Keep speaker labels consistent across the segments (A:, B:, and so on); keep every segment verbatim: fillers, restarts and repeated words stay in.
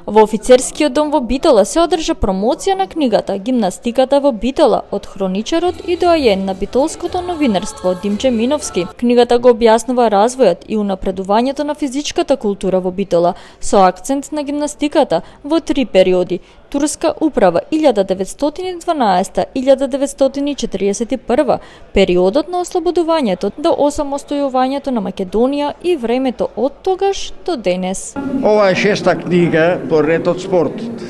A: Во офицерскиот дом во Битола се одржа промоција на книгата Гимнастиката во Битола од хроничарот и доајен на битолското новинарство Димче Миновски. Книгата го објаснува развојот и унапредувањето на физичката култура во Битола со акцент на гимнастиката во три периоди: турска управа илјада деветстотини и дванаесета - илјада деветстотини и четиридесет и прва, периодот на ослободувањето до осамостојувањето на Македонија и времето од тогаш до денес.
B: Ова е шеста книга по ред од спортот.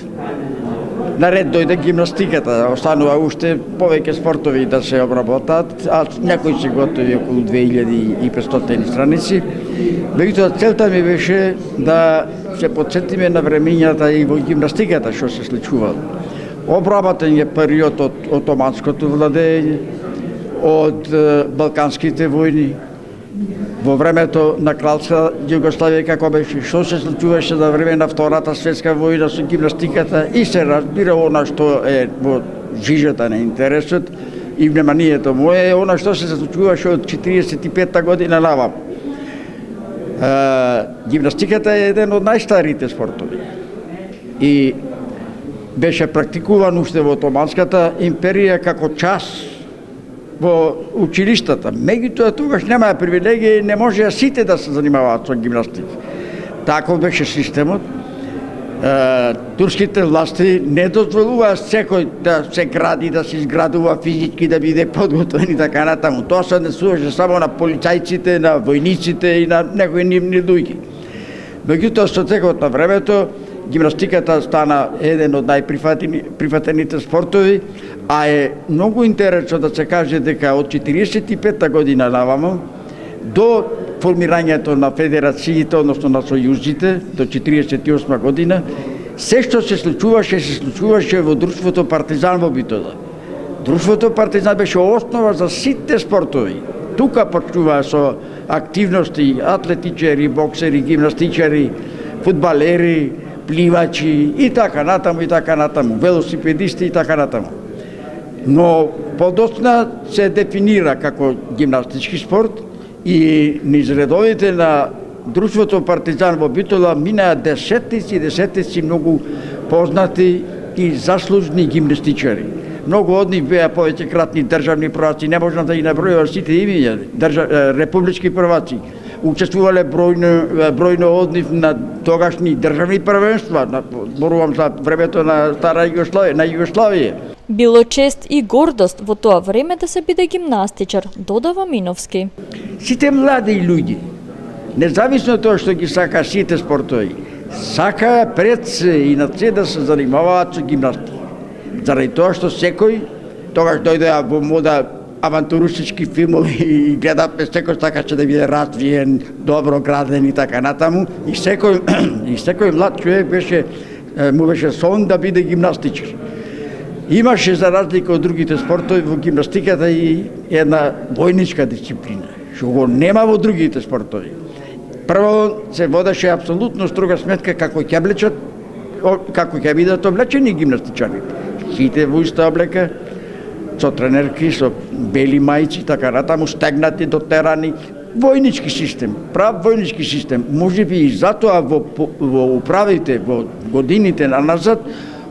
B: Наред дојде гимнастиката, останува уште повеќе спортови да се обработат, а някои се готови околу две илјади и петстотини страници. Меѓутоа целта ми беше да се потсетиме на времењата и во гимнастиката што се случувало. Обработен е период од отоманското владење, од балканските војни, во времето на кралска Југославија како беше, што се случуваше за време на Втората светска војна со гимнастиката и се разбира она што е во жижата на интересот и вниманието мое е она што се случуваше од четиридесет и пета година навам. Гимнастиката е еден од најстарите спортови и беше практикуван уште во Отоманската империја како час во училиштата. Меѓутоа тогаш немаа привилегија и не можеа сите да се занимаваат со гимнастика. Таков беше системот. Е, турските власти не дозволуваа секој да се гради, да се изградува физички, да биде подготвен и така натаму. Тоа се однесуваше само на полицајците, на војниците и на некои нивни луѓе. Меѓутоа со текот на времето гимнастиката стана еден од најприфатените спортови, а е многу интересно да се каже дека од четиридесет и пета година навамо до формирањето на федерациите, односно на сојузите, до четиридесет и осма година, се што се случуваше, се случуваше во Друштвото Партизан во Битола. Друштвото Партизан беше основа за сите спортови. Тука почнуваа со активности атлетичари, боксери, гимнастичари, фудбалери, пливачи и така натаму и така натаму, велосипедисти и така натаму. Но подоцна се дефинира како гимнастички спорт и низ редовите на Друштвото Партизан во Битола минаа десетици и десетици многу познати и заслужни гимнастичари. Многу од нив беа повеќекратни државни прваци, не можам да ги набројувам сите имиња, држа, републички прваци. Учествувале бројно, бројно од нив на тогашни државни првенства, зборувам за времето на Стара Југославија, на Југославија.
A: Било чест и гордост во тоа време да се биде гимнастичар, додава Миновски.
B: Сите млади луѓе, независно од тоа што ги сака сите спортови, сака пред се и на се да се занимаваат со гимнастика. Заради тоа што секој тогаш дојдеа во мода авантуристички филмови и гледавме секој сакаше да биде развиен, добро граден и така натаму, и секој и секој млад човек беше му беше сон да биде гимнастичар. Имаше за разлика од другите спортови во гимнастиката и една војничка дисциплина, што го нема во другите спортови. Прво се водеше апсолутно строга сметка како ќе облечат, како ќе бидат облечени гимнастичарите. Сите во иста облека, со тренерки, со бели мајци, така натаму, стегнати, дотерани, војнички систем, прав војнички систем. Можеби и затоа во, во управите, во годините на назад,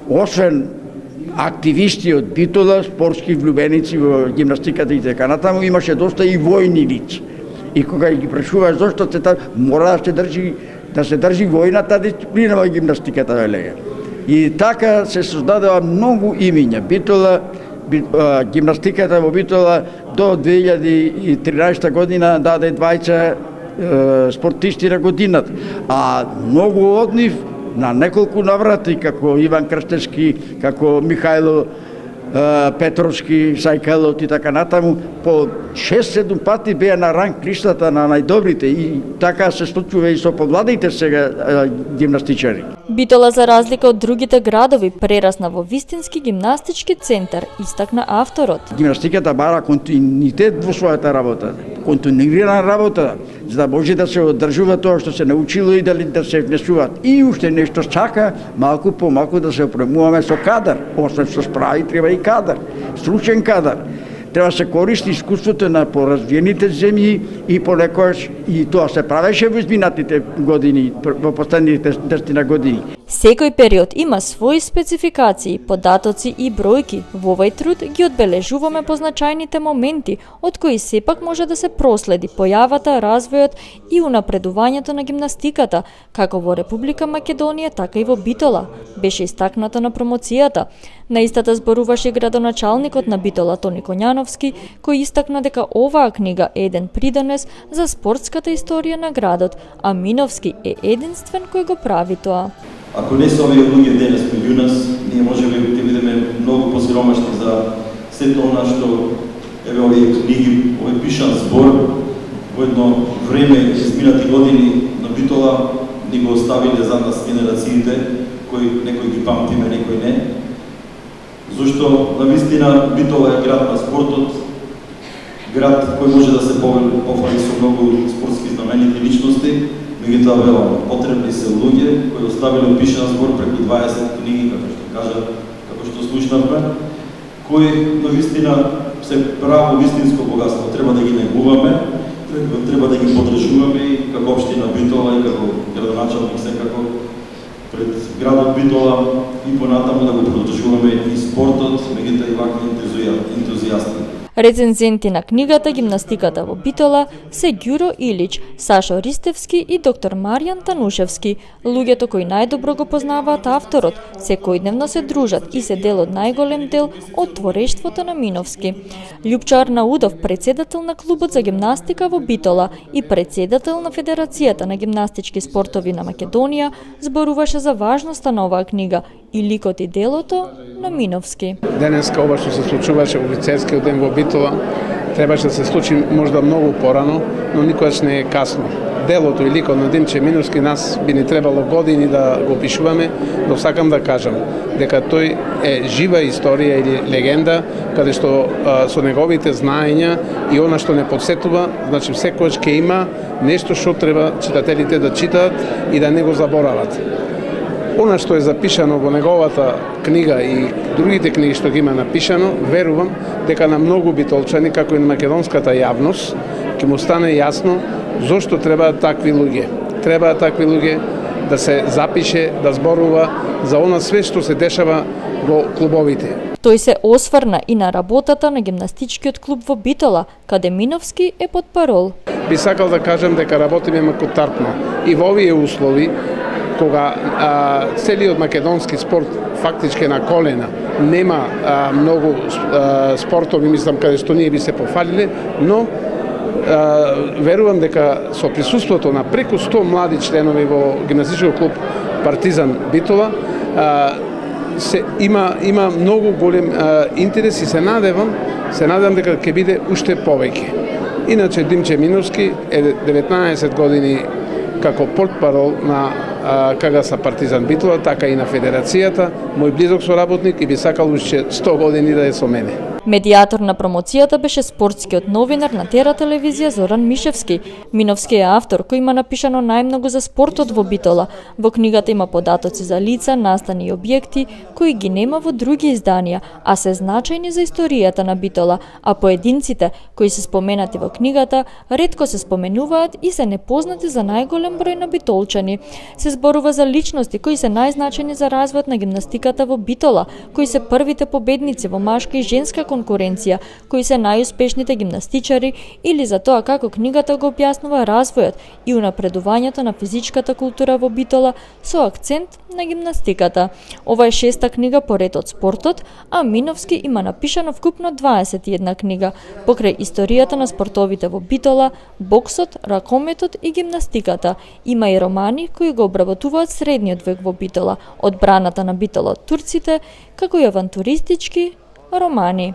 B: освен активисти од Битола, спортски влюбеници во гимнастиката и така натаму, имаше доста и војни лица. И кога ги прашуваш зошто се та, мора да се држи, да се држи војната дисциплина во гимнастиката, велега. И така се создадува многу имиња. Битола, гимнастиката во Битола до две илјади и тринаесета година даде двајца спортисти на годината, а многу од нив на неколку наврати, како Иван Крстевски, како Михајло Петровски, Сајкалот и така натаму, по шест-седум пати беа на ранг листата на најдобрите и така се случува и со помладите сега гимнастичари.
A: Битола, за разлика од другите градови, прерасна во вистински гимнастички центар, истакна авторот.
B: Гимнастиката бара континуитет во својата работа, континуирана работа, за да може да се одржува тоа што се научило и дали да се внесуваат. И уште нешто чака, малку по малку да се опремуваме со кадар, освен со справи треба и кадар, стручен кадар. Треба да се користи искуството на поразвиените земји и понекогаш и тоа се правеше во изминатите години, во последните десетина години.
A: Секој период има свои спецификации, податоци и бројки. Во овој труд ги одбележуваме позначајните моменти, од кои сепак може да се проследи појавата, развојот и унапредувањето на гимнастиката, како во Република Македонија, така и во Битола, беше истакнато на промоцијата. На истата зборуваше градоначалникот на Битола Тони Коњановски, кој истакна дека оваа книга е еден придонес за спортската историја на градот, а Миновски е единствен кој го прави тоа.
C: Ако не се овие луѓе денес меѓу нас, ние можеме да бидеме многу посиромашни за сето она што еве овие книги, овој пишан збор во едно време изминати години на Битола ни го оставиле за нас генерациите, кои некои ги памтиме, некои не. Зошто навистина Битола е град на спортот, град кој може да се пофали со многу спортски знаменити личности. Меѓутоа велам, потребни се луѓе кои оставиле пишан збор преку дваесет книги, како што кажа, како што слушнавме, кои навистина се право вистинско богатство. Треба да ги негуваме, треба да ги подржуваме и како општина Битола и како градоначалник секако пред градот Битола и понатаму да го подржуваме и спортот, меѓутоа и вакви ентузијасти.
A: Рецензенти на книгата Гимнастиката во Битола се Ѓуро Илич, Сашо Ристевски и доктор Маријан Танушевски, луѓето кои најдобро го познаваат авторот, секојдневно се дружат и се дел од најголем дел од творештвото на Миновски. Љупчо Арнаудов, председател на клубот за гимнастика во Битола и председател на Федерацијата на гимнастички спортови на Македонија, зборуваше за важноста на оваа книга и ликот и делото на Миновски.
D: Денеска ова што се случуваше во лицејскиот ден во Битола требаше да се случи можда многу порано, но никогаш не е касно. Делото и ликот на Димче Миновски нас би ни требало години да го пишуваме, но сакам да кажам дека тој е жива историја или легенда, каде што а, со неговите знаења и она што не подсетува, значи секогаш ќе има нешто што треба читателите да читаат и да не го заборават. Она што е запишано во неговата книга и другите книги што ги има напишано, верувам дека на многу битолчани, како и на македонската јавност, ќе му стане јасно зошто требаат такви луѓе. Требаат такви луѓе да се запише, да зборува за она све што се дешава во клубовите.
A: Тој се осврна и на работата на гимнастичкиот клуб во Битола, каде Миновски е потпарол.
D: Би сакал да кажам дека работиме макутартно и во овие услови, кога а, целиот македонски спорт фактички на колена, нема а, многу а, спортови, мислам, каде што ние би се пофалиле, но а, верувам дека со присуството на преку сто млади членови во гимнастичкиот клуб Партизан Битола, а, се има има многу голем а, интерес и се надевам, се надевам дека ќе биде уште повеќе. Иначе Димче Миновски е деветнаесет години како портпарол на КГС Партизан Битола, така и на Федерацијата, мој близок соработник и би сакал уште сто години да е со мене.
A: Медијатор на промоцијата беше спортскиот новинар на Тера телевизија Зоран Мишевски. Миновски е автор кој има напишано најмногу за спортот во Битола. Во книгата има податоци за лица, настани и објекти кои ги нема во други изданија, а се значајни за историјата на Битола, а поединците кои се споменати во книгата ретко се споменуваат и се непознати за најголем број на битолчани. Се зборува за личности кои се најзначајни за развојот на гимнастиката во Битола, кои се првите победници во машка и женска конкуренција, кои се најуспешните гимнастичари, или за тоа како книгата го објаснува развојот и унапредувањето на физичката култура во Битола со акцент на гимнастиката. Ова е шеста книга по ред од спортот, а Миновски има напишано вкупно дваесет и една книга покрај историјата на спортовите во Битола, боксот, ракометот и гимнастиката. Има и романи кои го обработуваат средниот век во Битола, одбраната на Битола од турците, како и авантуристички романи.